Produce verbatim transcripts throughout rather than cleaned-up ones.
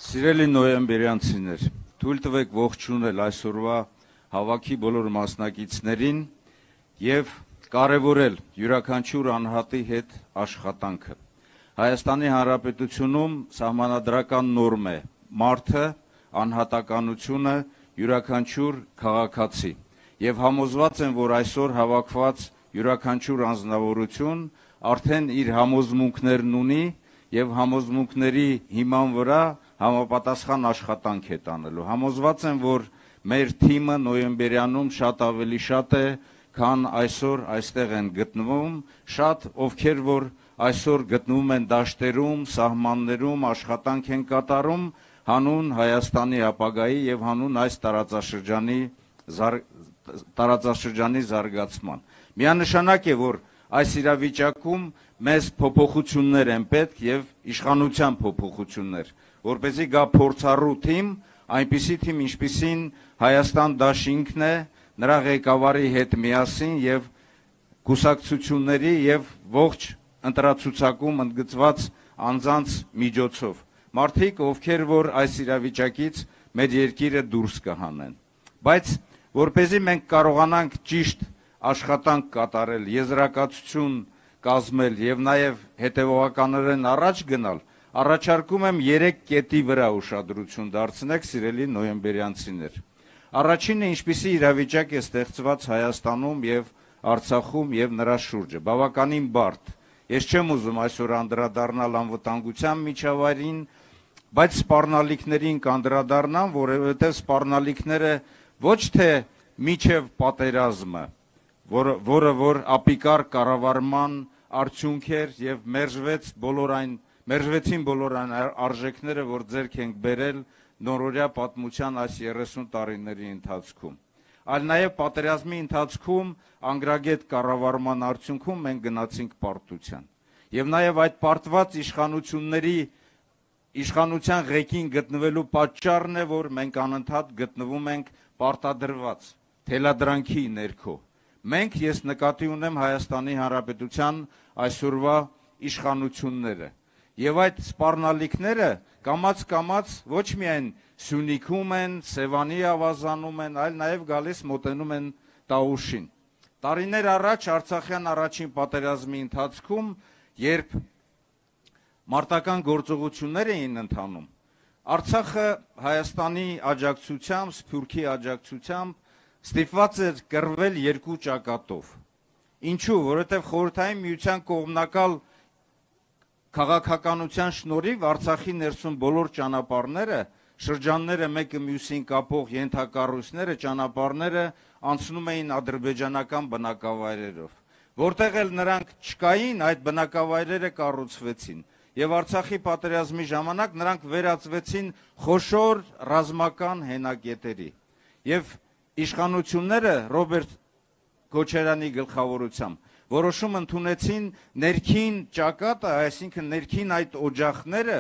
Սիրելի նոյեմբերյանցիներ, թույլ տվեք ողջունել այսօրվա հավաքի բոլոր մասնակիցներին եւ կարեւորել յուրաքանչյուր անհատի հետ աշխատանքը։ Հայաստանի Հանրապետությունում սահմանադրական նորմ է մարդը, անհատականությունը, յուրաքանչյուր քաղաքացի եւ համոզված եմ, որ այսօր հավաքված յուրաքանչյուր անձնավորություն արդեն իր համոզմունքներն ունի եւ համոզմունքների հիման վրա համապատասխան աշխատանք է տանելու։ Համոզված եմ, որ մեր թիմը նոյեմբերյանում շատ ավելի շատ է, քան այսօր այստեղ են գտնվում, շատ ովքեր որ այսօր գտնվում են դաշտերում, սահմաններում, աշխատանք են կատարում հանուն Հայաստանի ապագայի եւ հանուն այս տարածաշրջանի տարածաշրջանի զարգացման։ Միանշանակ է, որ այս իրավիճակում մեզ փոփոխություններ են պետք եւ իշխանության փոփոխություններ, որպեսզի գա փորձառու թիմ, այնպիսի թիմ, ինչպիսին Հայաստան դաշինքն է, նրա ղեկավարի հետ միասին եւ կուսակցությունների եւ ողջ ընտրացուցակում ընդգծված անձանց միջոցով։ Մարդիկ, ովքեր որ այս իրավիճակից մեր երկիրը դուրս կհանեն։ Բայց որպեսզի մենք կարողանանք ճիշտ աշխատանք կատարել, եզրակացություն կազմել եւ նաեւ հետեւողականորեն առաջ գնալ, առաջարկում եմ երեք կետի վրա ուշադրություն դարձնեք, սիրելի նոյեմբերյանցիներ։ Առաջինը, ինչպիսի իրավիճակ է ստեղծված Հայաստանում եւ Արցախում եւ նրա շուրջը, բավականին բարդ։ Ես չեմ ուզում այսօր անդրադառնալ անվտանգության միջավայրին, բայց սպառնալիքներին կանդրադառնամ, որովհետեւ սպառնալիքները ոչ թե միջև պատերազմը, որը որը որ ապիկար կառավարման արդյունք էր եւ մերժվեց բոլոր այն մերժվեցին բոլոր այն արժեքները, որ ձեռք ենք բերել նորօրյա պատմության այս երեսուն տարիների ընթացքում, այլ նաեւ պատերազմի ընթացքում անգրագետ կառավարման արդյունքում մենք գնացինք պարտության եւ նաեւ այդ պարտված իշխանությունների իշխանության ղեկին գտնվելու պատճառն է, որ մենք անընդհատ գտնվում ենք պարտադրված թելադրանքի ներքո։ Մենք ես նկատի ունեմ Հայաստանի Հանրապետության այսօրվա իշխանությունները եւ այդ սպառնալիքները կամաց-կամաց ոչ միայն Սյունիքում են, Սևանի ավազանում են, այլ նաեւ գալիս մոտենում են Տաուշին։ Տարիներ առաջ Արցախյան առաջին պատերազմի ընթացքում, երբ մարտական գործողություններ էին ընթանում, Արցախը Հայաստանի աջակցությամբ, Սփյուռքի աջակցությամբ ստիպված էր կռվել երկու ճակատով։ Ինչու՞, որովհետև Խորհրդային Միության կողմնակալ քաղաքականության շնորհիվ Արցախի ներսում բոլոր ճանապարհները, շրջանները մեկը մյուսին կապող ենթակառույցները, ճանապարհները անցնում էին ադրբեջանական բնակավայրերով։ Որտեղ էլ նրանք չկային, այդ բնակավայրերը կառուցվեցին։ Եվ Արցախի պատերազմի ժամանակ նրանք վերածվեցին խոշոր ռազմական հենակետերի։ Եվ իշխանությունները Ռոբերտ Քոչարյանի գլխավորությամբ որոշում ընդունեցին ներքին ճակատը, այսինքն ներքին այդ օջախները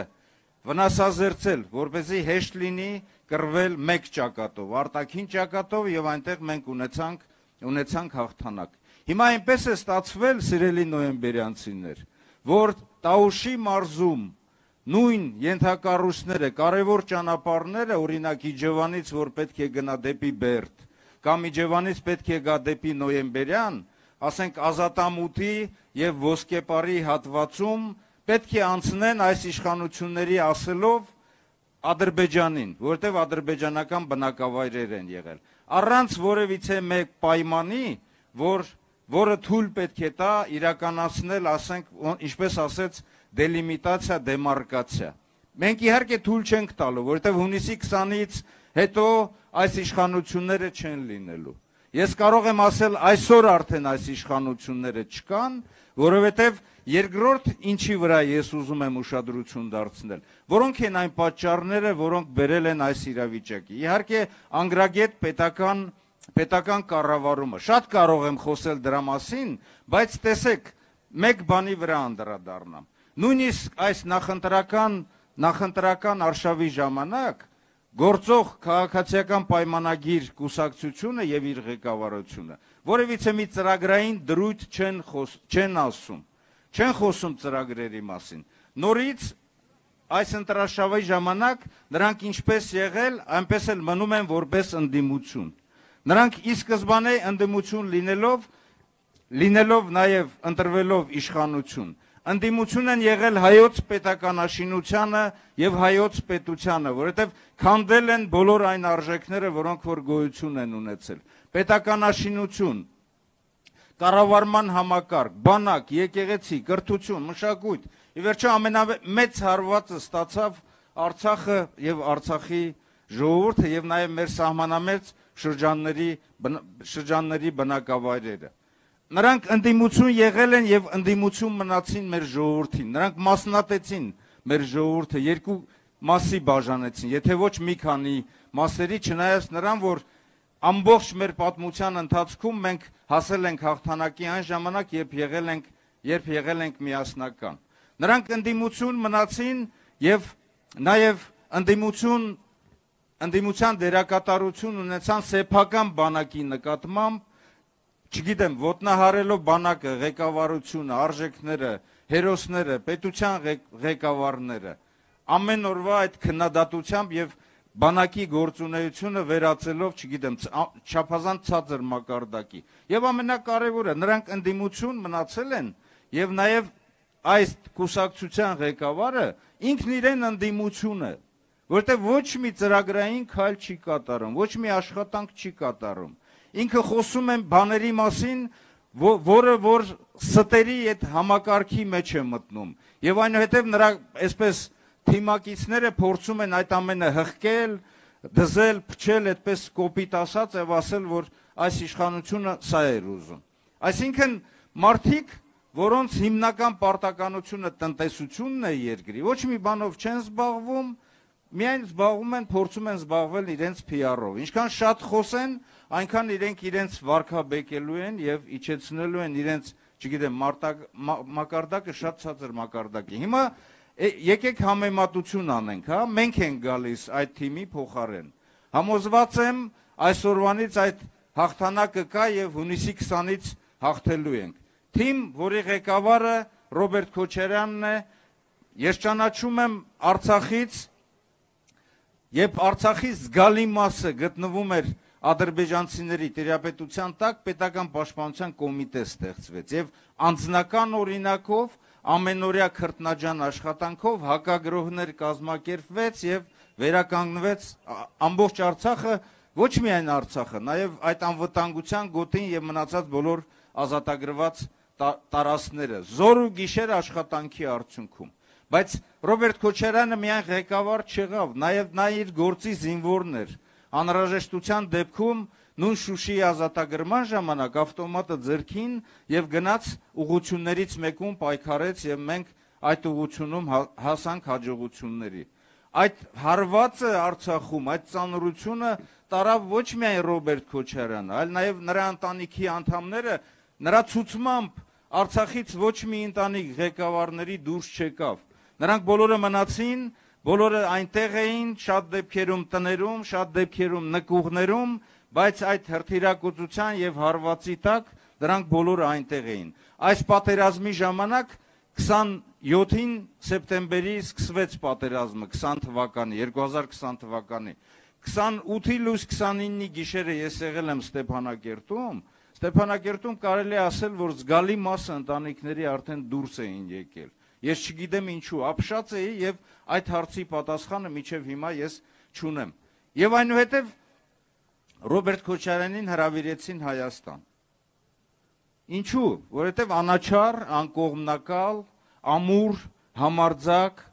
վնասազերծել, որպեսզի հեշտ լինի կռվել մեկ ճակատով, արտաքին ճակատով եւ այնտեղ մենք ունեցանք ունեցանք հաղթանակ։ Հիմա այնպես է ստացվել, սիրելի նոյեմբերյանցիներ, որ Տաուշի մարզում նույն ենթակառույցները, կարևոր ճանապարհները, օրինակ Իջևանից, որ պետք է գնա դեպի Բերդ, կամ Իջևանից պետք է գա դեպի Նոյեմբերյան, ասենք Ազատամուտի եւ Ոսկեպարի հատվածում պետք է անցնեն այս իշխանությունների ասելով Ադրբեջանին, որտեղ ադրբեջանական բնակավայրեր են եղել, առանց որևիցե մեկ պայմանի, որ որը թույլ պետք է տա իրականացնել, ասենք, ինչպես ասեց, դելիմիտացիա, դեմարկացիա։ Մենք իհարկե թույլ չենք տալու, որովհետև հունիսի քսանից հետո այս իշխանությունները չեն լինելու։ Ես կարող եմ ասել, այսօր արդեն այս իշխանությունները չկան, որովհետև երկրորդ ինչի վրա ես ուզում եմ ուշադրություն դարձնել, որոնք են այն պատճառները, որոնք բերել են այս իրավիճակի։ Իհարկե անգրագետ պետական պետական կառավարումը, շատ կարող եմ խոսել դրա մասին, բայց տեսեք, մեկ բանի վրա անդրադառնամ։ Նույնիսկ այս նախընտրական նախընտրական արշավի ժամանակ գործող քաղաքացիական պայմանագիր կուսակցությունը եւ իր ղեկավարությունը որևիցե մի ծրագրային դրույթ չեն խոս չեն ասում, չեն խոսում ծրագրերի մասին։ Նորից այս ընտրաշավի ժամանակ նրանք ինչպես եղել, այնպես էլ մնում են որպես ընդդիմություն։ Նրանք ի սկզբանե ընդդիմություն լինելով, լինելով նաև ընտրվելով իշխանություն, ընդդիմություն են եղել հայոց պետականաշինությանը եւ հայոց պետությանը, որովհետեւ քանդել են բոլոր այն արժեքները, որոնք որ գոյություն են ունեցել։ Պետականաշինություն, կառավարման համակարգ, բանակ, եկեղեցի, կրթություն, մշակույթ, ի վերջո ամենամեծ հարվածը ստացավ Արցախը եւ Արցախի ժողովուրդը եւ նաեւ մեր սահմանամերձ շրջանների շրջանների բնակավայրերը։ Նրանք ընդդիմություն եղել են եւ ընդդիմություն մնացին մեր ժողովրդին։ Նրանք մասնատեցին մեր ժողովուրդը, երկու մասի բաժանեցին, եթե ոչ մի քանի մասերի, չնայած նրան, որ ամբողջ մեր պատմության ընթացքում մենք հասել ենք հաղթանակի այն ժամանակ, երբ եղել ենք, երբ եղել ենք միասնական։ Նրանք ընդդիմություն մնացին եւ նաեւ ընդդիմություն ընդդիմության դերակատարություն ունեցան սեփական բանակի նկատմամբ, չգիտեմ, ոտնահարելով բանակը, ղեկավարությունը, արժեքները, հերոսները, պետության ղեկավարները, ամեն օրվա այդ քննադատությամբ եւ բանակի գործունեությունը վերածելով, չգիտեմ, չափազանց ցածր մակարդակի։ Եվ ամենակարևորը, նրանք ընդդիմություն մնացել են եւ նաեւ այս կուսակցության ղեկավարը ինքն իրեն ընդդիմություն է, որտեղ ոչ մի ծրագրային քայլ չի կատարում, ոչ մի աշխատանք չի կատարում։ Ինքը խոսում է բաների մասին, որը որ ստերի այդ համակարգի մեջ է մտնում։ Եվ այնուհետև նրա այսպես թիմակիցները փորձում են այդ ամենը հղկել, դզել, փչել, այդպես կոպիտ ասած եւ ասել, որ այս իշխանությունը սա էր ուզում։ Այսինքն մարդիկ, որոնց հիմնական պարտականությունը տնտեսությունն է երկրի, ոչ մի բանով չեն զբաղվում, միայն զբաղվում են, փորձում են զբաղվել իրենց P R-ով։ Ինչքան շատ խոսեն, այնքան իրենք իրենց վարքաբեկելու են եւ իջեցնելու են իրենց, չգիտեմ, մակարդակը շատ ցածր մակարդակի։ Հիմա եկեք համեմատություն անենք, հա, մենք ենք գալիս այդ թիմի փոխարեն։ Համոզված եմ, այսօրվանից այդ հաղթանակը կա եւ հունիսի քսանից հաղթելու ենք։ Թիմ, որի ղեկավարը Ռոբերտ Քոչարյանն է, ես ճանաչում եմ Արցախից, երբ Արցախի զգալի մասը գտնվում էր ադրբեջանցիների տիրապետության տակ, պետական պաշտպանության կոմիտե ստեղծվեց եւ անձնական օրինակով ամենօրյա քրտնաջան աշխատանքով հակագրոհներ կազմակերպվեց եւ վերականգնվեց ամբողջ Արցախը, ոչ միայն Արցախը, նաեւ այդ անվտանգության գոտին եւ մնացած բոլոր ազատագրված տարածքները զոր ու գիշեր աշխատանքի արդյունքում։ Բայց Ռոբերտ Քոչարյանը միայն ղեկավար չեղավ, նաեւ նա իր գործի զինվորն էր։ Անհրաժեշտության դեպքում նույն Շուշիի ազատագրման ժամանակ ավտոմատը ձեռքին եւ գնաց ուղություններից մեկում պայքարեց եւ մենք այդ ուղությունում հասանք հաջողությունների։ Այդ հարվածը Արցախում, այդ ծանրությունը տարավ ոչ միայն Ռոբերտ Քոչարյանը, այլ նաեւ նրա ընտանիքի անդամները, նրա ցուցմամբ Արցախից ոչ մի ընտանիք ղեկավարների դուրս չեկավ։ Նրանք բոլորը մնացին, բոլորը այնտեղ էին, շատ դեպքերում տներում, շատ դեպքերում նկուղներում, բայց այդ հրթիռակոծության եւ հարվածի տակ դրանք բոլորը այնտեղ էին։ Այս պատերազմի ժամանակ քսանյոթին սեպտեմբերի սկսվեց պատերազմը քսան թվականի, երկու հազար քսան թվականի։ քսանութի լույս քսանինի գիշերը ես եղել եմ Ստեփանակերտում, Ստեփանակերտում կարելի է ասել, որ զգալի մասը ընտանիքների արդեն դուրս էին եկել։ Ես չգիտեմ ինչու, ապշած էի եւ այդ հարցի պատասխանը մինչեւ հիմա ես չունեմ։ Եվ այնուհետեւ Ռոբերտ Քոչարյանին հրավիրեցին Հայաստան։ Ինչու? Որովհետեւ անաչառ, անկողմնակալ, ամուր, համարձակ,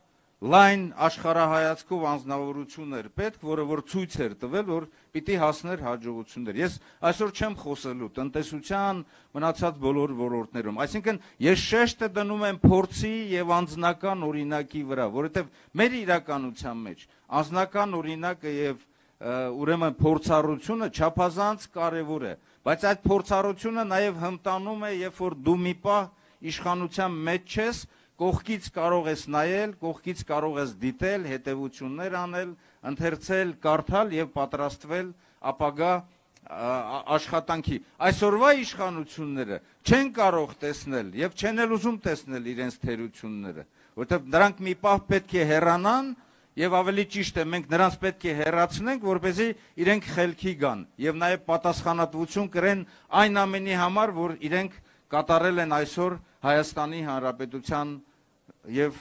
լայն աշխարհայացքով անձնավորություն էր պետք, որը որ ցույց էր տվել, որ պիտի հասներ հաջողություններ։ Ես այսօր չեմ խոսելու տնտեսության մնացած բոլոր ոլորտներում, այսինքն ես շեշտը դնում եմ փորձի եւ անձնական օրինակի վրա, որովհետեւ մեր իրականության մեջ անձնական օրինակը եւ ուրեմն փորձառությունը չափազանց կարեւոր է, բայց այդ փորձառությունը նաեւ հմտանում է, երբ որ դու մի պահ իշխանության մեջ ես, կողքից կարող ես նայել, կողքից կարող ես դիտել, հետևություններ անել, ընթերցել, կարդալ եւ պատրաստվել ապագա աշխատանքի։ Այսօրվա իշխանությունները չեն կարող տեսնել եւ չեն էլ ուզում տեսնել իրենց թերությունները, որովհետև նրանք մի պահ պետք է հեռանան եւ ավելի ճիշտ է մենք նրանց պետք է հեռացնենք, որպեսզի իրենք խելքի գան եւ նաեւ պատասխանատվություն կրեն այն ամենի համար, որ իրենք կատարել են այսօր Հայաստանի Հանրապետության եւ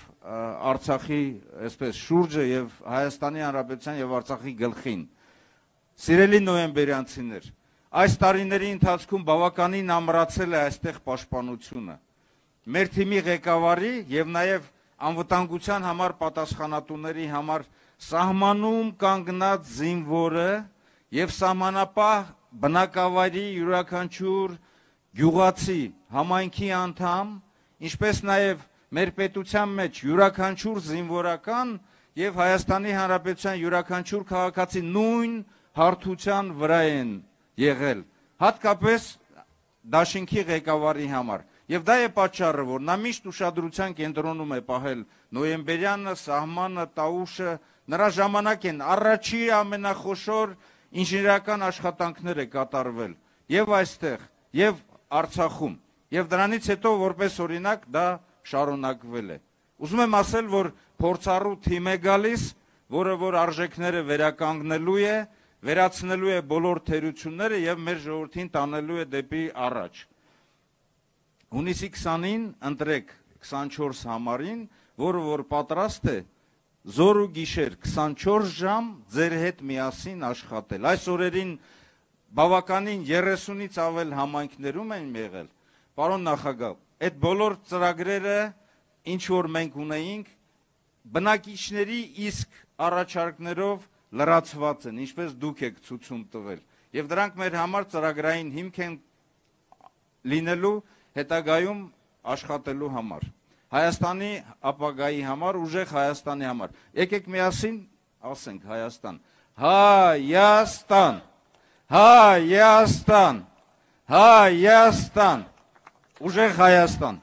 Արցախի, այսպես շուրջը եւ Հայաստանի Հանրապետության եւ Արցախի գլխին։ Սիրելի նոյեմբերյանցիներ, այս տարիների ընթացքում բավականին ամրացել է այստեղ պաշտպանությունը։ Մեր թիմի ղեկավարի եւ նաեւ անվտանգության համար պատասխանատուների համար սահմանում կանգնած զինվորը եւ սահմանապահ բնակավայրի յուրաքանչյուր գյուղացի համայնքի անդամ, ինչպես նաեւ մեր պետության մեջ յուրաքանչյուր զինվորական եւ Հայաստանի Հանրապետության յուրաքանչյուր քաղաքացի նույն հարթության վրա են եղել, հատկապես դաշինքի ղեկավարի համար։ Եվ դա է պատճառը, որ նա միշտ ուշադրության կենտրոնում է պահել նոյեմբերյանը, սահմանը, տաուշը, նրա ժամանակ են առաջի ամենախոշոր ինժեներական աշխատանքները կատարվել եւ այստեղ, եւ Արցախում, եւ դրանից հետո որպես օրինակ դա շարունակվել է։ Ուզում եմ ասել, որ փորձառու թիմ է գալիս, որը որ արժեքները վերականգնելու է, վերացնելու է բոլոր թերությունները եւ մեր ժողովրդին տանելու է դեպի առաջ։ Հունիսի քսանին ընտրեք քսանչորս համարին, որը որ պատրաստ է զոր ու գիշեր քսանչորս ժամ ձեր հետ միասին աշխատել։ Այս օրերին բավականին երեսունից ավել համայնքներում են եղել։ Պարոն նախագահ, այդ բոլոր ծրագրերը, ինչ որ մենք ունեինք, բնակիչների իսկ առաջարկներով լրացված են, ինչպես դուք եք ցույցում տվել։ Եվ դրանք մեր համար ծրագրային հիմք են լինելու հետագայում աշխատելու համար, Հայաստանի ապագայի համար, ուժեղ Հայաստանի համար։ Եկեք միասին ասենք Հայաստան, Հայաստան, Հայաստան, Հայաստան, ուժեղ Հայաստան։